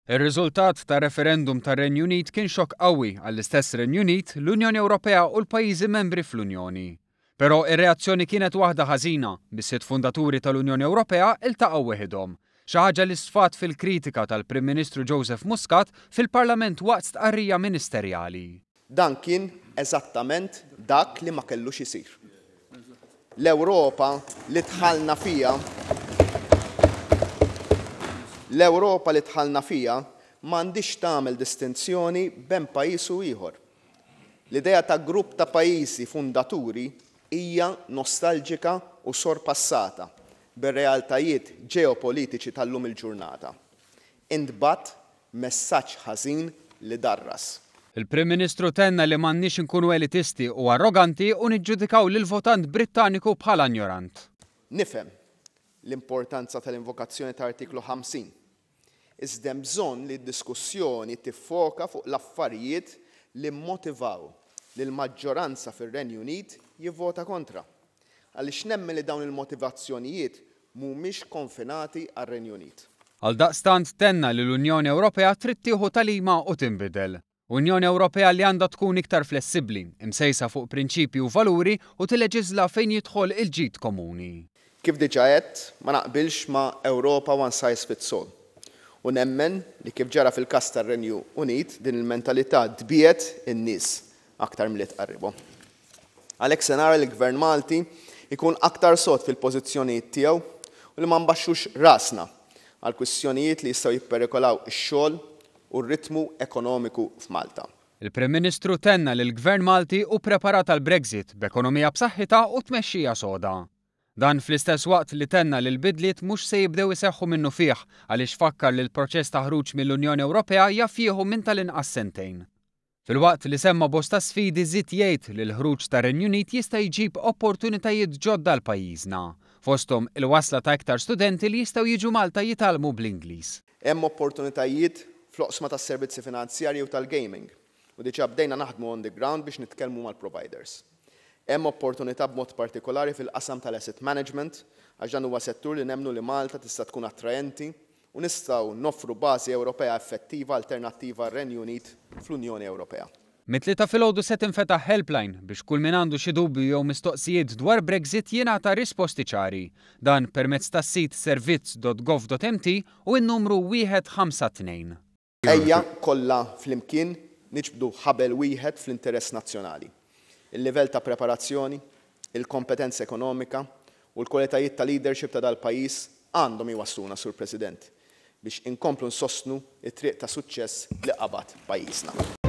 Ir-riżultat tar-referendum tar-Renju Unit kien xokk qawwi għall-istess Renju Unit, l-Unjoni Ewropea u l-pajjiżi membri fl-Unjoni. Però ir-reazzjoni kienet waħda ħażina, bis-sitt fundaturi tal-Unjoni Ewropea iltaqgħu weħidhom. Xi ħaġa li sfat fil-kritika tal-Prim Ministru Joseph Muscat fil-Parlament waqt stqarrija ministerjali. Dan kien eżattament dak li ma kellux isir. L-Ewropa li dħalna fiha L-Ewropa li dħalna fiha m'għandhiex tagħmel distinzjoni bejn pajjiż u ieħor. L-idea ta' grupp ta' pajjiżi fundaturi hija nostalġika u sorpassata bir-realtajiet ġeopolitiċi tal-lum il-ġurnata. Intbagħat messaġġ ħażin li darras. Il-Prim Ministru tenna li m'għandniex inkunu elitisti u arroganti u niġġudikaw lill-votant Brittaniku bħala injorant. Nifhem l-importanza tal-invokazzjoni ta' Artiklu 50, iżda hemm bżonn li d-diskussjoni tiffoka fuq l-affarijiet li mmotivaw lill-maġġoranza fir-Renju Unit jivvota kontra, għaliex nemmen li dawn il-motivazzjonijiet mhumiex konfinati għar-Renju Unit. Għaldaqstant tenna li l-Unjoni Ewropea trid tieħu tagħlima u tinbidel. Unjoni Ewropea li għandha tkun iktar flessibbli, imsejsa fuq prinċipji u valuri u tilleġiżla fejn jidħol il-ġid komuni. Kif diġà għedt, ma naqbilx ma' Ewropa one size fits all. U nemmen li kif ġara fil-każ tar-Renju Unit, din il-mentalità tbiegħed in-nies aktar milli tqarribhom. Għalhekk se nara li l-Gvern Malti jkun aktar sod fil-pożizzjonijiet tiegħu u li ma nbaxxux rasna għal kwistjonijiet li jistgħu jipperikolaw ix-xogħol u r-ritmu ekonomiku f'Malta. Il-Prim Ministru tenna li l-Gvern Malti hu preparat għall-Brexit b'ekonomija b'saħħitha u tmexxija soda. Dan fl-istess waqt li tenna li l-bidliet mhux se jibdew iseħħu minnufih għaliex fakkar li l-proċess ta' ħruġ mill-Unjoni Ewropea jaf jieħu minn tal-inqas sentejn. Filwaqt li semma bosta sfidi żied jgħid li l-ħruġ tar-Renju Unit jista' jġib opportunitajiet ġodda għal pajjiżna, fosthom il-wasla ta' iktar studenti li jistgħu jiġu Malta jitgħallmu bl-Ingliż. Hemm opportunitajiet fl-oqsma tas-servizzi finanzjarji u tal-gaming u diġà bdejna naħdmu on the ground biex nitkellmu mal-providers. Hemm opportunità b'mod partikolari fil-qasam tal-asset management għax dan huwa settur li nemmnu li Malta tista' tkun attraenti u nistgħu noffru bażi Ewropea effettiva alternattiva għar-Renju Unit fl-Unjoni Ewropea. Mit-Tlieta filgħodu se tinfetaħ helpline biex kull min għandu xi dubju jew mistoqsijiet dwar Brexit jingħata risposti ċari. Dan permezz tas-sit servizz.gov.mt u n-numru 152. Ejja kollha flimkien niġbdu ħabel wieħed fl-interess nazzjonali. Il-livell ta' preparazzjoni, il-kompetenza ekonomika u l-kwalitajiet ta' leadership ta' dal-pajjiż għandhom jwassluna, Sur President, biex inkomplu nsostnu t-triq ta' suċċess li qabad pajjiżna.